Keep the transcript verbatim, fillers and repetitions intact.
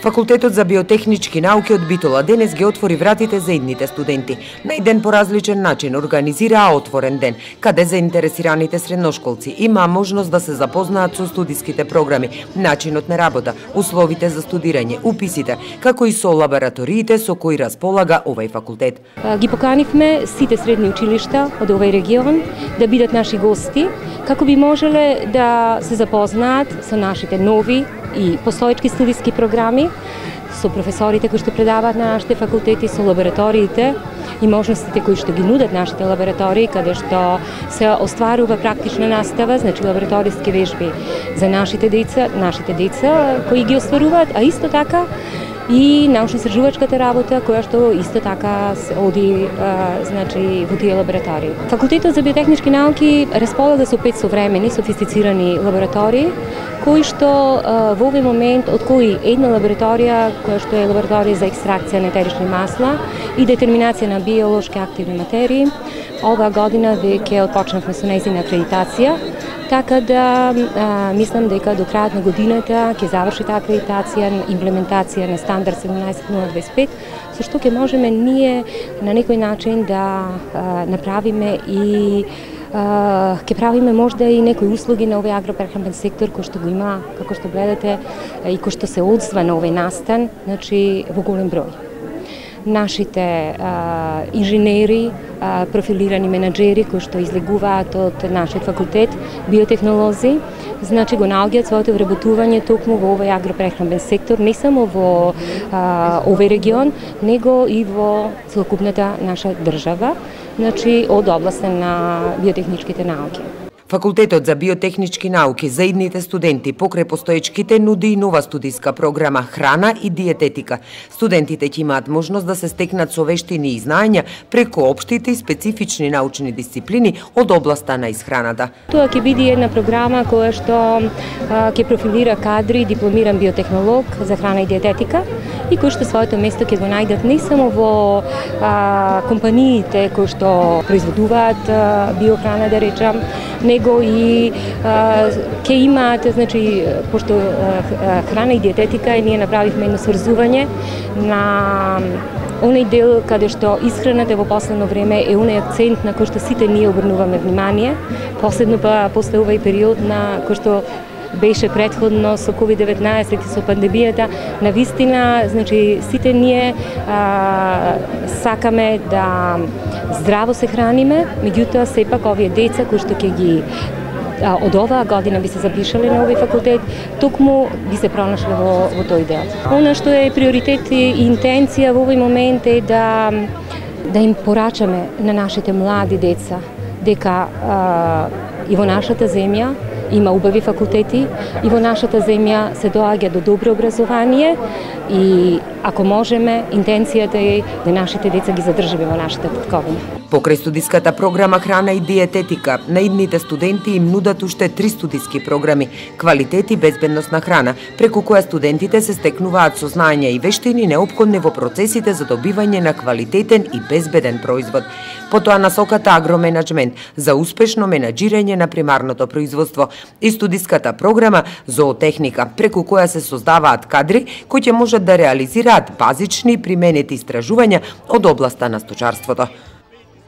Факултетот за биотехнички науки од Битола денес ги отвори вратите за идните студенти. На еден поразличен начин организираа отворен ден, каде заинтересираните средношколци имаа можност да се запознаат со студиските програми, начинот на работа, условите за студирање, уписите, како и со лабораториите со кои располага овој факултет. Ги поканивме сите средни училишта од овој регион да бидат наши гости, како би можеле да се запознаат со нашите нови и постоечки студиски програми, со професорите кои што предаваат на нашите факултети, со лабораториите и можностите кои што ги нудат нашите лаборатории, каде што се остварува практична настава, значи лабораториски вежби за нашите деца, нашите деца кои ги остваруваат, а исто така и научно-истражувачката работа, која што исто така се оди а, значи, во тие лаборатории. Факултетот за биотехнички науки располага со пет современи, софистицирани лаборатории, кои што а, во овој момент, од кои една лабораторија, која што е лабораторија за екстракција на етерични масла и детерминација на биолошки активни материи, оваа година веќе отпочнавме со нејзина акредитација, така да а, мислам дека до крајот на годината ќе заврши таа акредитација, имплементација на стандард седумнаесет нула дваесет и пет, со што ќе можеме ние на некој начин да а, направиме и а, ќе правиме можда и некои услуги на овој агропрехранбен сектор кој што го има, како што гледате, и кој што се одзва на овој настан, значи во голем број. Нашите а, инженери, а, профилирани менаџери кои што излегуваат од нашиот факултет, биотехнолози, значи го наоѓаат своето вработување токму во овој агропрехранбен сектор, не само во а, овој регион, него и во целокупната наша држава, значи од областа на биотехничките науки. Факултетот за биотехнички науки за идните студенти покрај постоечките нуди и нова студиска програма храна и диететика. Студентите ќе имаат можност да се стекнат со вештини и знаења преку општите и специфични научни дисциплини од областа на исхраната. Тоа ќе биде една програма која што а, ќе профилира кадри дипломиран биотехнолог за храна и диететика и кои што своето место ќе го најдат не само во а, компаниите кои што произведуваат а, биохрана, да речам, него и а, ќе имаат, значи, пошто а, храна и диететика, и ние направивме едно сврзување на оној дел каде што исхраната во последно време е оној акцент на кој што сите ние обрнуваме внимание, последно па после овој период на кој што беше претходно со ковид деветнаесет и со пандемијата, на вистина, значи, сите ние а, сакаме да здраво се храниме, меѓутоа сепак овие деца кои што ќе ги а, од оваа година би се запишале на овој факултет, токму би се пронашле во, во тој дел. Она што е приоритет и интенција во овој момент е да да им порачаме на нашите млади деца дека а, и во нашата земја има убави факултети и во нашата земја се доаѓа до добро образование и ако можеме, интенцијата е да нашите деца ги задржиме во нашата татковина. Покрај студиската програма храна и диететика, на идните студенти им нудат уште три студиски програми: квалитет и безбедност на храна, преку која студентите се стекнуваат со знаења и вештини неопходни во процесите за добивање на квалитетен и безбеден производ. Потоа насоката агроменаџмент за успешно менаџирање на примарното производство и студиската програма зоотехника, преку која се создаваат кадри кои ќе можат да реализираат базични применети истражувања од областа на сточарството.